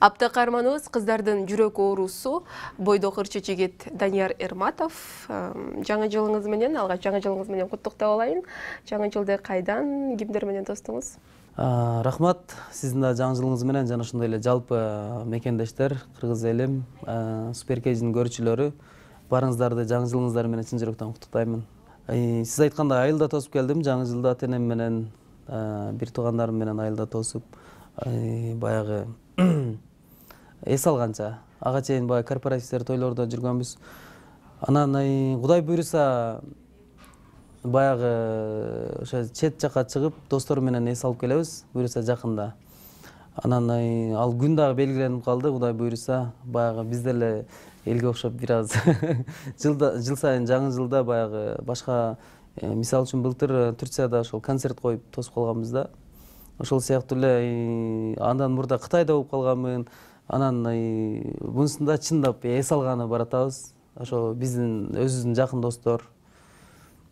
Апта каарманыбыз кыздардын жүрөк оорусу бойдок ырчы жигит Данияр Эрматов. Жаңы жылыңыз менен, алгач жаңы жылыңыз менен куттуктап алайын. Жаңы жылды кайдан, кимдер менен тостуңуз? Рахмат, сиздин да жаңы жылыңыз менен жана ошондой эле жалпы мекендештер, кыргыз элим, Суперкейдин көрүүчүлөрү баарыңыздарды жаңы жылыңыздар менен чын жүрөктөн куттуктаймын. Сиз айткандай айылда тосуп келдим, жаңы жылда ата-энем менен, бир туугандарым менен айылда тосуп, баягы эс алганча ага чейин баягы корпоративдер, тойлордо жүргөнбүз. Анан Кудай буйруса баягы ошо чет жакка чыгып, достору менен эс алып келебиз, буйруса жакында. Анан ал күн дагы белгиленип калды, Кудай буйруса, баягы биз деле элге окшоп бир аз жыл сайын жаңы жылда баягы башка, мисалы үчүн былтыр Турцияда ошол концерт коюп тосуп калганбыз да. Ошол сыяктуу эле андан мурда Кытайда болуп калганмын. Анан мунусунда чындап эс алганы баратабыз. Ошо биздин өзүбүздүн жакын достор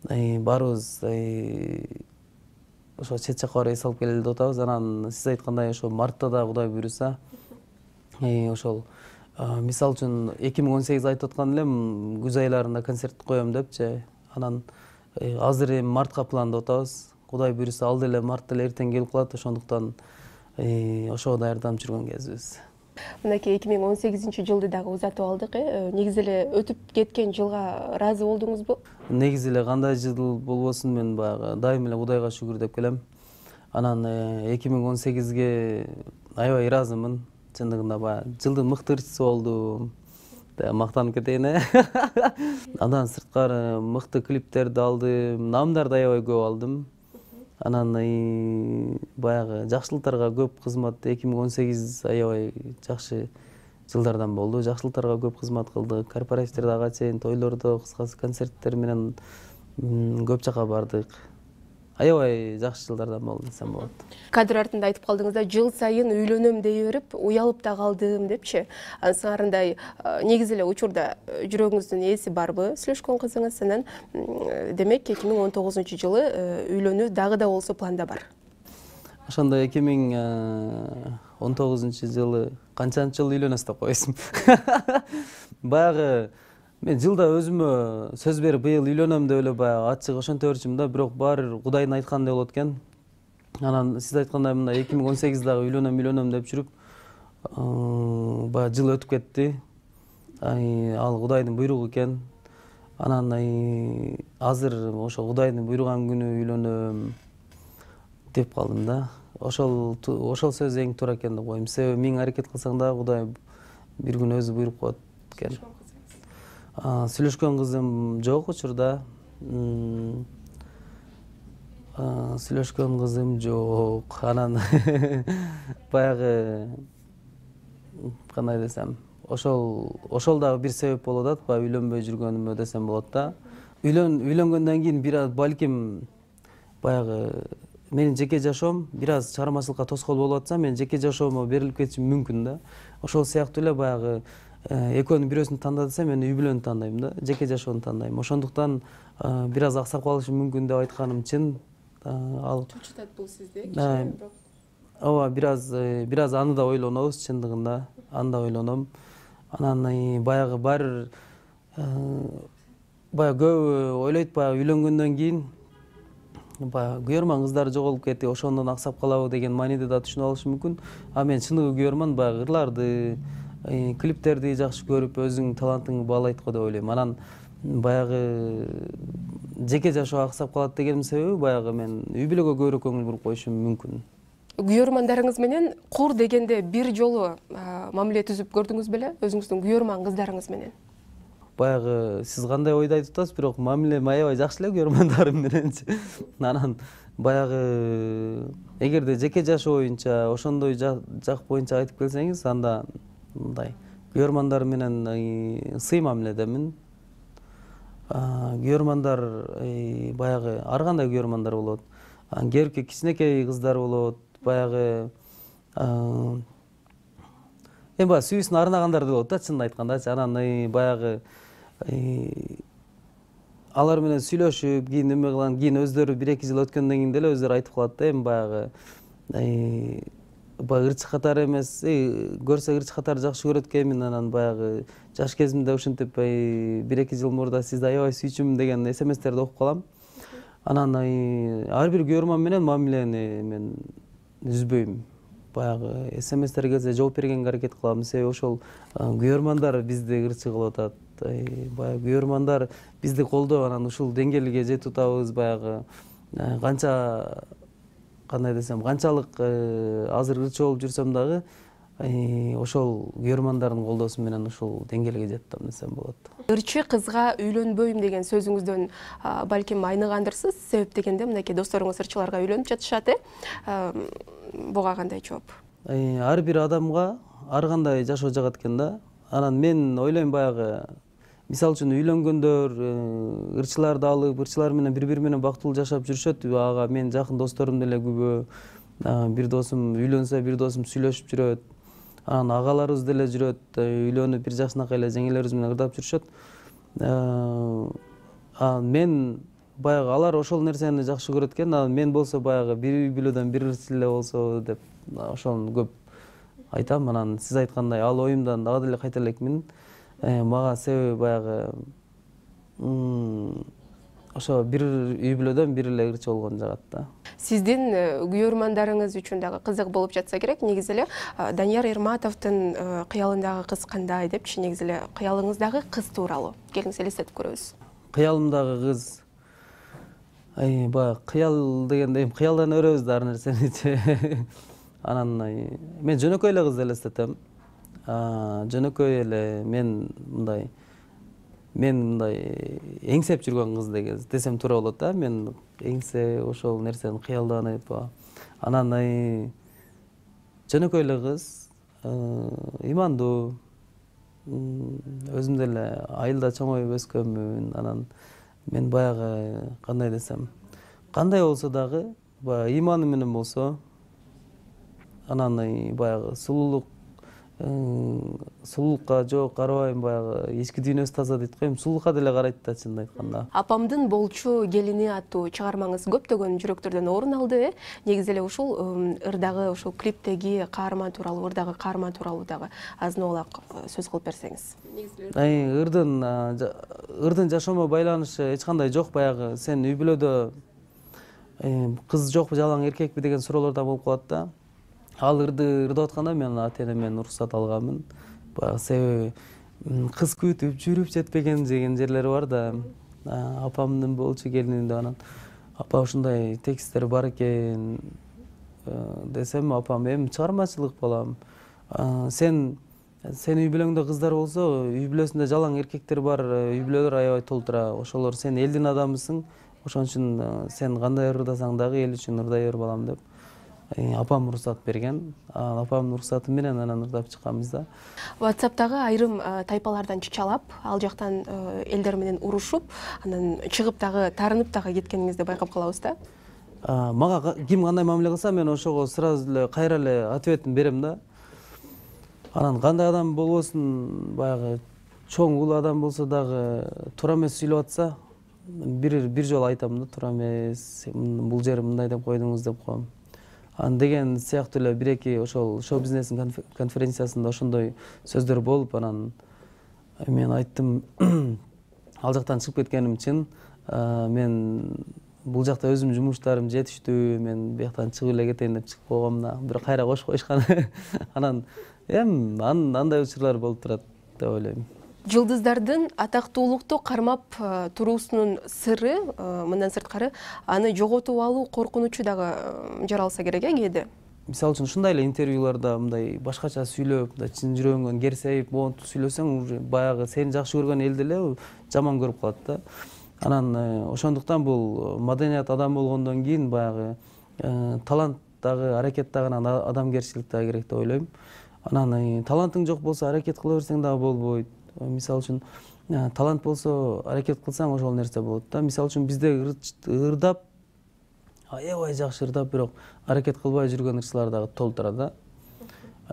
баарыбыз ошо чет жакка барып эс алып келели деп атабыз. Анан сиз айткандай ошо мартта да Кудай буйруса ошол мисалы үчүн 2018 айтып аткан элем, күз айларында концерт коем депчи. Анан азыр эми мартка пландап атабыз. Кудай буйруса ал деле март деле эртең келип калат, ошондуктан ошого даярданып жүргөн кезибиз. Мынакей 2018 жылды дагы узатып алдык. Негизи эле өтүп кеткен жылга ыраазы болдуңузбу? Негизи эле кандай жыл болбосун, мен баягы дайым эле Кудайга шүгүр деп келем. Анан 2018ге аябай ыраазымын. Чындыгында баягы жылдын мыкты ырчысы болдум. Мактанып кетейин, Андан сырткары мыкты клиптерди алдым, наамдарды аябай көп алдым. Анан баягы жакшылыктарга көп кызмат, 2018 аябай жакшы жылдардан болду. Жакшылыктарга көп кызмат кылдык, корпоративдерде ага чейин, тойлордо, кыскасы концерттер менен көп жака бардык. Аябай жакшы жылдардан болду десем болот. Кадр артында айтып калдыңыз да, жыл сайын үйлөнөм дей берип, уялып да калдым депчи. Сыңарындай негизи эле учурда жүрөгүңүздүн ээси барбы сүйлөшкөн кызыңыз? Анан демек 2019 жылы үйлөнүү дагы да болсо планда бар. Ошондо 2019 жылы канчанчы жыл үйлөнөсүз деп койсуң. Баягы мен жылда өзүмө сөз берип быйыл үйлөнөм деп эле баягы ачык ошентип берчүмүн да, бирок баары Кудайдын айтканындай болот экен. Анан сиз айткандай мына 2018 үйлөнөм деп жүрүп, баягы жыл өтүп кетти. Ал Кудайдын буйругу экен. Анан азыр ошо Кудайдын буйруган күнү үйлөнөм деп калдым да. Ошол сөз эң туура экен деп коем. Себеби миң аракет кылсаң да Кудай бир күн өзү буйруп коет экен. Сүйлөшкөн кызым жок учурда. Сүйлөшкөн кызым жок. Анан баягы кандай десем, ошол дагы бир себеп болуп атат, баягы үйлөнбөй жүргөнүмө десем болот да. Үйлөнгөндөн кийин бир аз балким баягы менин жеке жашоом бир аз чыгармачылыкка тоскоол болуп атса, мен жеке жашоомо берилип кетишим мүмкүн да. Ошол сыяктуу эле баягы экөөнүн бирөөсүн танда десем, мен үй бүлөнү тандайм да, жеке жашоону тандайм. Ошондуктан бир аз аксап калышым мүмкүн деп айтканым чын. Ал чучутат бул сизди, бирок ооба, бир аз аны да ойлонобуз, чындыгында аны да ойлоном. Анан баягы баары баягы көбү ойлойт, баягы үйлөнгөндөн кийин баягы күйөрман кыздар жоголуп кетти, ошондон аксап калабы деген мааниде да түшүнүп алышы мүмкүн. Мен чындыгы күйөрман, баягы ырларды, клиптерди жакшы көрүп, өзүңдүн талантыңды баалайт го деп ойлойм. Анан баягы жеке жашоо аксап калат дегенин себеби баягы мен үй бүлөгө көбүрөөк көңүл буруп коюшум мүмкүн. Күйөрмандарыңыз менен кур дегенде бир жолу мамиле түзүп көрдүңүз беле өзүңүздүн күйөрман кыздарыңыз менен? Баягы сиз кандай ойду айтып атасыз, бирок мамилем аябай жакшы эле күйөрмандарым мененчи. Анан баягы эгерде жеке жашоо боюнча, ошондой жак боюнча айтып келсеңиз, анда мындай күйөрмандар менен сый мамиледемин. Күйөрмандар баягы ар кандай күйөрмандар болот. Кээ бирки кичинекей кыздар болот, баягы баягы сүйүүсүн арнагандар болот да, чынын айткандачы. Анан баягы алар менен сүйлөшүп, кийин эме кылган, кийин өздөрү 1-2 жыл өткөндөн кийин деле өздөрү айтып калат да, баягы баягы ырчы катары эмес, көрсө ырчы катары жакшы көрөт экенмин. Анан баягы жаш кезимде ушинтип 1-2 жыл мурда сизди аябай сүйчүмүн деген смстерди окуп калам. Анан ар бир көрөрман менен мамилени мен үзбөйм. Баягы смстер келсе жооп бергенге аракет кылам. Себеби ошол көрөрмандар бизди ырчы кылып атат. Баягы көрөрмандар бизди колдоп, анан ушул деңгээлге жетип атабыз. Баягы канча кандай десем, канчалык азыр ырчы болуп жүрсөм дагы ошол көрөрмандардын колдоосу менен ушул деңгээлге жеттим десем болот. Ырчы кызга үйлөнбөйм деген сөзүңүздөн балким айныгандырсыз. Себеп дегенде мынакей досторуңуз ырчыларга үйлөнүп жатышат. Буга кандай жооп? Ар бир адамга ар кандай жашоо жагат экен да. Анан мен ойлойм, баягы мисалы үчүн үйлөнгөндөр ырчыларды алып, ырчылар менен бири-бири менен бактылуу жашап жүрүшөт. Ага мен жакын досторум деле күбө. Бир досум үйлөнсө, бир досум сүйлөшүп жүрөт. Анан агаларыбыз деле жүрөт, үйлөнүп бир жашынакай эле жеңелерибиз менен ырдап жүрүшөт. Мен баягы алар ошол нерсени жакшы көрөт экен. Мен болсо баягы бир үй бүлөдөн бир ырчы эле болсо деп ошону көп айтам. Анан сиз айткандай ал оюмдан дагы деле кайталекмин. Мага себеби баягы ошо бир үй бүлөдөн бир эле ырчы болгон жагат да. Сиздин күйөрмандарыңыз үчүн дагы кызык болуп жатса керек. Негизи эле Данияр Эрматовдун кыялындагы кыз кандай депчи, негизи эле кыялыңыздагы кыз тууралуу келиңиз элестетип көрөбүз. Кыялымдагы кыз, баягы кыял дегенде кыялдан өрөбүз да ар нерсеничи. Анан мен жөнөкөй эле кызды элестетем. Жөнөкөй эле мен мындай эңсеп жүргөн кыз десем туура болот да. Мен эңсе ошол нерсени кыялданып, анан жөнөкөй эле кыз, имандуу, өзүм деле айылда чоңоюп өскөнмүн. Анан мен баягы кандай десем, кандай болсо дагы баягы иманы менен болсо, анан баягы сулуулукка жок карабайм, баягы ички дүйнөсү таза дейт го, сулуулукка деле карайт да, чынын айтканда. Апамдын болчу келини аттуу чыгармаңыз көптөгөн жүрөктөрдөн орун алды. Негизи эле ушул ырдагы ушул клиптеги каарман тууралуу, ырдагы каарман тууралуу дагы азын-олак сөз кылып берсеңиз. Ырдын жашоомо байланышы эч кандай жок. Баягы сен үй бүлөдө кыз жокпу, жалаң эркекпи деген суроолор да болуп калат да. Ал ырды ырдап атканда мен ата-энемден уруксат алганмын. Баягы себеби кыз күтүп жүрүп жетпеген деген жерлери бар да. Апамдын болчу келининде анан апа ушундай тексттер бар экен десем, апам чыгармачылык балам. Сен үй бүлөңдө кыздар болсо, үй бүлөсүндө жалаң эркектер бар, үй бүлөлөр аябай толтура. Ошолор сен элдин адамысың. Ошон үчүн сен кандай ырдасаң дагы эл үчүн ырдай бер балам деп апам уруксат берген. Апамдын уруксаты менен анан ырдап чыкканбыз да. WhatsApp'тагы айрым тайпалардан чычалап, ал жактан элдер менен урушуп, анан чыгып дагы таарынып дагы кеткениңизди байкап калабыз да. Мага ким кандай мамиле кылса, мен ошого сразу эле кайра эле ответин берем да. Анан кандай адам болбосун, баягы чоң улуу адам болсо дагы туура эмес сүйлөп атса, бир жолу айтам да, туура эмес, бул жери мындай деп койдуңуз деп коем. Деген сыяктуу эле бир-эки ошол шоу бизнестин конференциясында ошондой сөздөр болуп, анан мен айттым, ал жактан чыгып кеткеним чын. Мен бул жакта өзүмдүн жумуштарым жетиштүү, мен бияктан чыгып эле кетейин деп чыгып койгом да. Бирок кайра кошуп коюшкан. Анан андай учурлар болуп турат деп ойлойм. Жылдыздардын атактуулукту кармап туруусунун сыры, мындан сырткары, аны жоготуп алуу коркунучу дагы жаралса керек кээде. Мисалы үчүн ушундай эле интервьюларда мындай башкача сүйлөп, чын жүрөгүңөн керсейип, монтуп сүйлөсөң, баягы сени жакшы көргөн эл деле жаман көрүп калат да. Анан ошондуктан бул маданият адам болгондон кийин баягы талант дагы, аракет дагы, адамгерчилик дагы керек деп ойлойм. Анан талантың жок болсо аракет кыла берсең дагы болбойт. Мисалы үчүн талант болсо аракет кылсаң ошол нерсе болот да. Мисалы үчүн бизде ырдап, аябай жакшы ырдап, бирок аракет кылбай жүргөн ырчылар дагы толтура да.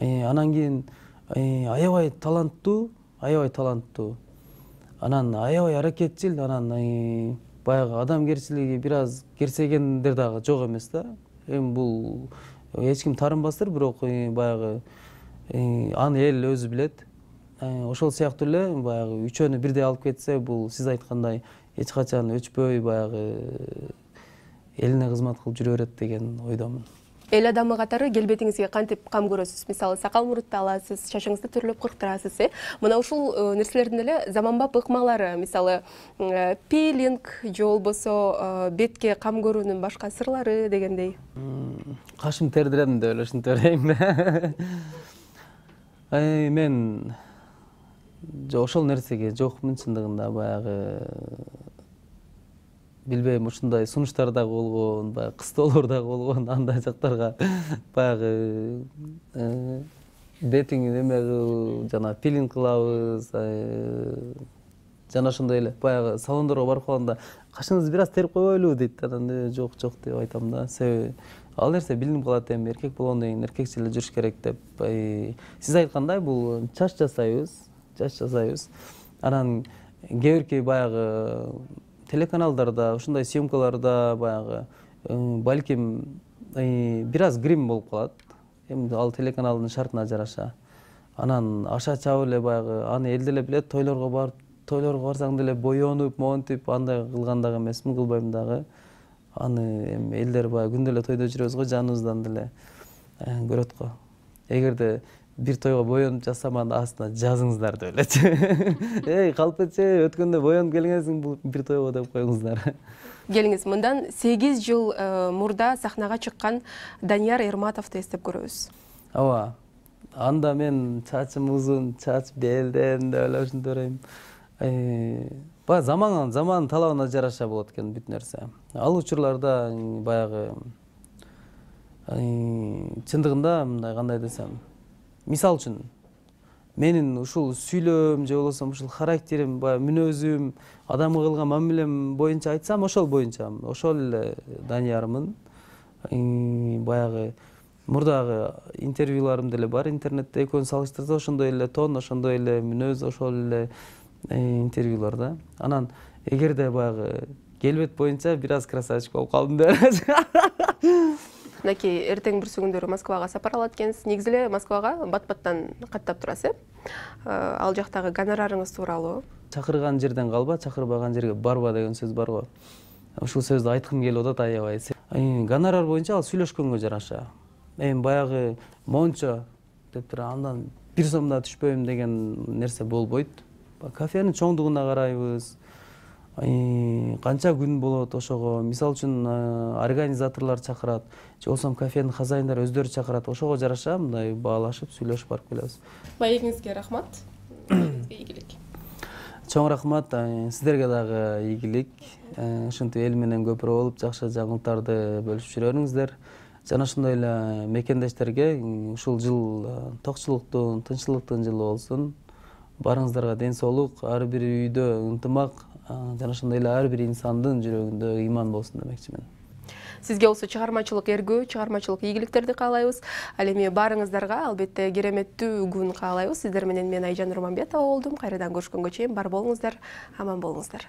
Анан кийин аябай таланттуу, анан аябай аракетчил, анан баягы адамгерчилиги бир аз керсегендер дагы жок эмес да. Бул эч ким таарынбастыр, бирок баягы аны эл өзү билет. Ошол сыяктуу эле баягы үчөөнү бирдей алып кетсе, бул сиз айткандай эч качан өчпөй баягы элине кызмат кылып жүрө берет деген ойдомун. Эл адамы катары келбетиңизге кантип кам көрөсүз? Мисалы, сакал мурутты аласыз, чачыңызды түрлөп кырктырасыз, Мына ушул нерселердин эле заманбап ыкмалары, мисалы, пилинг же болбосо бетке кам көрүүнүн башка сырлары дегендей. Кашым тердирем деп эле ушинтип берейин да. Мен ошол нерсеге жокмун чындыгында, баягы билбейм, ушундай сунуштар дагы болгон, баягы кыстоолор дагы болгон, андай жактарга баягы бетиңи неме кылып, жана пилинг кылабыз, жана ошондой эле баягы салондорго барып калганда кашыңызды бир аз терип койбойлу дейт. Анан жок деп айтам да. Себеби ал нерсе билинип калат, эми эркек болгондон кийин эркекче эле жүрүш керек деп. Сиз айткандай, бул чач жасайбыз. Анан кээ бирки баягы телеканалдарда, ушундай съемкаларда баягы балким бир аз грим болуп калат. Эми ал телеканалдын шартына жараша. Анан аша чабып эле баягы аны эл деле билет, тойлорго барсаң деле боёнуп, монтип андай кылган дагы эмесмин, кылбайм дагы. Аны эми элдер баягы күндө эле тойдо жүрөбүз го, жаныбыздан деле көрөт го. Эгерде бир тойго боёнуп жатсам, аны астына жазыңыздар деп элечи. Эй, калпечи, өткөндө боёнуп келгенсиң бул бир тойго деп коюңуздар. Келиңиз, мындан 8 жыл мурда сахнага чыккан Данияр Эрматовду эстеп көрөбүз. Ооба. Анда мен чачым узун, чач белден деп эле ушинтип берейм. Баягы заман талабына жараша болот экен бүт нерсе. Ал учурларда баягы чындыгында мындай кандай десем, мисал үчүн менин ушул сүйлөөм же болбосо ушул характерим, баягы мүнөзүм, адамга кылган мамилем боюнча айтсам, ошол эле Даниярмын. Баягы мурдагы интервьюларым деле бар интернетте, экөөнү салыштырса ошондой эле тон, ошондой эле мүнөз, ошол эле интервьюларда. Анан эгерде баягы келбет боюнча бир аз красавчик болуп калдым деп. Мынакей эртең бүрсү күндөрү Москвага сапар алат экенсиз. Негизи эле Москвага бат-баттан каттап турасыз. Ал жактагы гонорарыңыз тууралуу? Чакырган жерден калба, чакырбаган жерге барба деген сөз бар го. Ушул сөздү айткым келип атат аябай. Гонорар боюнча ал сүйлөшкөнгө жараша. Эми баягы мончо деп туруп андан 1 сом да түшпөйм деген нерсе болбойт. Кафенин чоңдугуна карайбыз. Канча күн болот ошого. Мисал үчүн организаторлор чакырат, же болбосо кафенин хозяиндары өздөрү чакырат. Ошого жараша мындай баалашып, сүйлөшүп барып келебиз. Маегиңизге рахмат. Ийгилик. Чоң рахмат. Сиздерге дагы ийгилик. Ушинтип эл менен көпүрө болуп, жакшы жаңылыктарды бөлүшүп жүрөңүздөр. Жана ошондой эле мекендештерге ушул жыл токчулуктун, тынччылыктын жылы болсун. Барыңыздарга ден соолук, ар бир үйдө ынтымак, жана ошондой эле ар бир инсандын жүрөгүндө ыйман болсун демекчимин. Сизге болсо чыгармачылык эргүү, чыгармачылык ийгиликтерди каалайбыз. Ал эми барыңыздарга албетте кереметтүү күн каалайбыз. Сиздер менен мен Айжан Нурманбетова болдум. Кайрадан көрүшкөнгө чейин бар болуңуздар, аман болуңуздар.